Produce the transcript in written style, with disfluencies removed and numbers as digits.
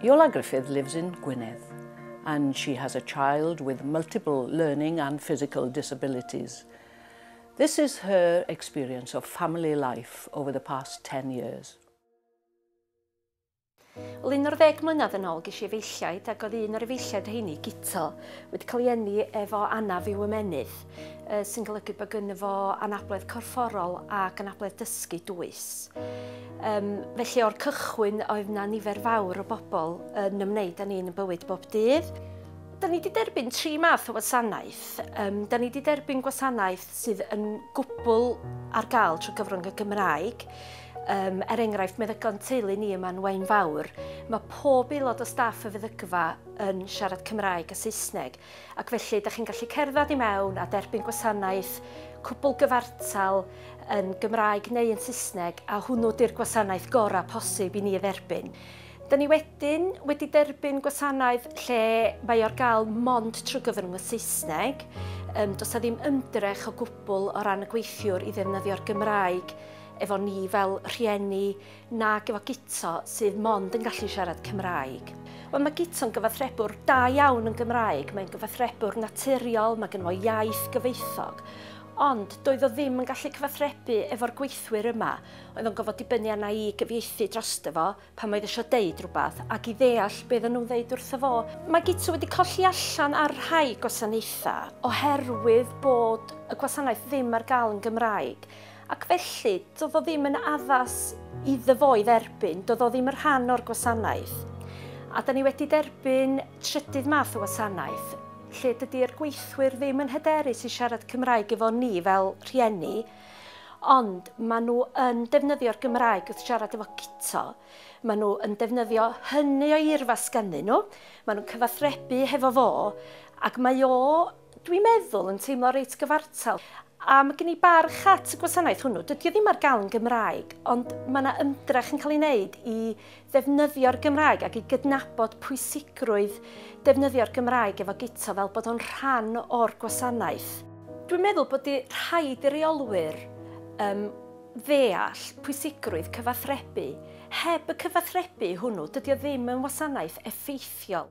Iola Gruffydd lives in Gwynedd and she has a child with multiple learning and physical disabilities. This is her experience of family life over the past 10 years. Wel, 11 mlynedd yn ôl ges i efeilliaid ac oedd un o'r efeilliaid rheini, Guto, wedi cael ei eni efo anaf i'w ymennydd, sy'n golygu bod gynno fo anabledd corfforol ac anabledd dysgu dwys. Felly o'r cychwyn oedd 'na nifer fawr o bobl yn ymwneud â ni yn y bywyd bob dydd. Da ni wedi derbyn tri math o wasanaeth. Da ni wedi derbyn gwasanaeth sydd yn gwbl ar gael trwy gyfrwng y Gymraeg. Er enghraifft, meddygon teulu ni yma'n Waunfawr, mae pob aelod o staff y feddygfa yn siarad Cymraeg a Saesneg, ac felly da chi'n gallu cerdded i mewn a derbyn gwasanaeth cwbl gyfartal yn Gymraeg neu yn Saesneg, a hwnnw di'r gwasanaeth gorau posib i ni dderbyn. Da ni wedyn wedi derbyn gwasanaeth lle mae o'r gael mond trwy gyfrwng y Saesneg. Does 'na ddim ymdrech o gwbl o ran y gweithiwr i ddefnyddio'r Gymraeg efo ni fel rhieni nag efo Guto sydd mond yn gallu siarad Cymraeg. Wel, mae Guto'n gyfathrebwr da iawn yn Gymraeg, mae'n gyfathrebwr naturiol, mae gynno fo iaith gyfoethog, ond doedd o ddim yn gallu cyfathrebu efo'r gweithwyr yma. Oedd o'n gorfod dibynnu arna i gyfieithu drosto fo pan oedd eisiau deud rhywbeth ac i ddeall beth o'n nhw'n ddeud wrtho fo. Mae Guto wedi colli allan ar rhai gwasanaethau oherwydd bod y gwasanaeth ddim ar gael yn Gymraeg. Ac felly, doedd o ddim yn addas iddo fo i dderbyn, doedd o ddim yn rhan o'r gwasanaeth. A da ni wedi derbyn trydydd math o wasanaeth, lle dydy'r gweithwyr ddim yn hyderus i siarad Cymraeg efo ni fel rhieni, ond maen nhw yn defnyddio'r Gymraeg wrth siarad efo Guto. Maen nhw yn defnyddio hynny o eirfa sgynnyn nhw, maen nhw'n cyfathrebu hefo fo, ac mae o, dwi'n meddwl, yn teimlo reit gyfartal. A mae gen i barch at y gwasanaeth hwnnw. Dydy o ddim ar gael yn Gymraeg, ond mae yna ymdrech yn cael ei wneud i ddefnyddio'r Gymraeg ac i gydnabod pwysigrwydd defnyddio'r Gymraeg efo Guto fel bod o'n rhan o'r gwasanaeth. Dwi'n meddwl bod rhaid i reolwyr ddeall pwysigrwydd cyfathrebu. Heb y cyfathrebu hwnnw, dydy o ddim yn wasanaeth effeithiol.